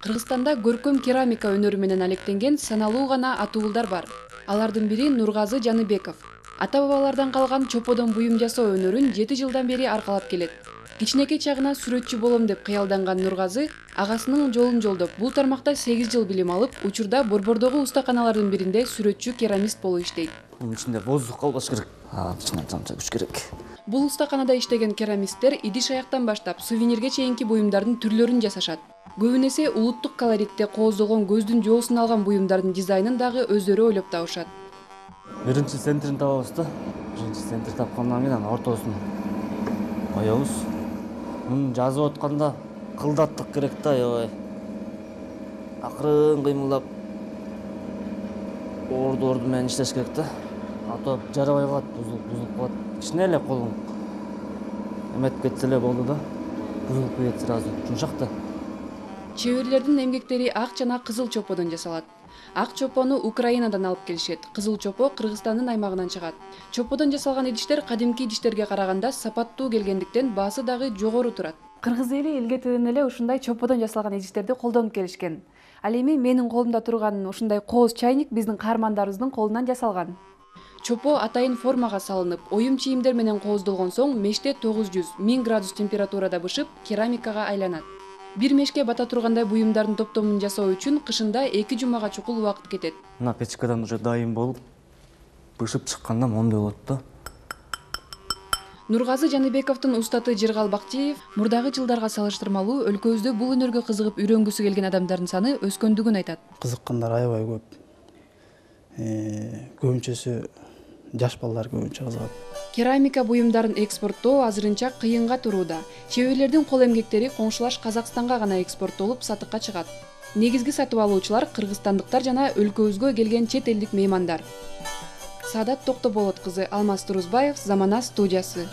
Кыргызстанда көркөм керамика өнөрү менен алектенген саналуу гана атуулдар бар. Алардын бири Нургазы Жаныбеков. Ата-бабалардан калган чоподон буюм жасоо өнөрүн 7 жылдан бери аркалап келет. Кичинекей чагынан сүрөтчү болом деп кыялданган Нургазы агасынын жолун жолдоп, бул тармакта 8 жыл билим алып, учурда Борбордогу устаканалардын биринде сүрөтчү-керамист болуп иштейт. Мунун ичинде воздух калбаш керек. Кичине тамча күч керек. Бул устаканада иштеген керамисттер идиш-аяктан баштап сувенирге чейинки буюмдардын түрлөрүн жасашат. Көбүн эсе улуттук колоритте кооздолгон көздүн жоосун алган буюмдардын дизайнын дагы өздөрү ойлоп табышат. Биринчи центрин табабыз да. Биринчи центр тапкандан кийин анан ортосун коебуз. Муну жазып атканда кылдаттык керек да, аябай. Акырын кыймылдап орду менен иштеш керек да. А то жарабай калат, бузулуп калат. Кичине эле колуң эметип кетсе эле болду да. Бузулуп кетет сразу. Жумшак да. Чеберлердин эмгектери ак жана кызыл чоподон жасалат. Ак чопону Украинадан алып келишет, кызыл чопо Кыргызстандын аймагынан чыгат. Чоподон жасалган идиштер кадимки идиштерге караганда сапаттуу келгендиктен баасы дагы жогору турат. Кыргыз эли илгертеден эле ушундай чоподон жасалган идиштерди колдонуп келишкен. Ал эми менин колумда турган ушундай кооз чайник биздин каармандарыбыздын колунан жасалган. Чопо атайын формага салынып, оюм чийимдер менен кооздолгон соң меште 900-1000 градус температурада бышып, керамикага айланат. Бир мешке бата тургандай буюмдардын топтомун жасоо үчүн кышында 2 жумага чукул убакыт кетет. Мына печкадан уже дайым болуп, бышып чыкканда моундай болот да. Нургазы Жаныбековдун устаты Жыргал Бактиев мурдагы жылдарга салыштырмалуу өлкөбүздө бул өнөргө кызыгып үйрөнгүсү келген адамдардын саны өскөндүгүн айтат. Кызыккандар аябай көп. Көбүнчөсү жаш балдар көбүнчө кызыгат. Керамика буюмдарын экспорттоо азырынча кыйынга турууда. Чеберлердин кол эмгектери коңшулаш Казакстанга гана экспорттолуп сатыкка чыгат. Негизги сатып алуучулар кыргызстандыктар жана өлкөбүзгө келген чет элдик меймандар. Саадат Токтоболот кызы, Алмаз Турузбаев, Замана студиясы.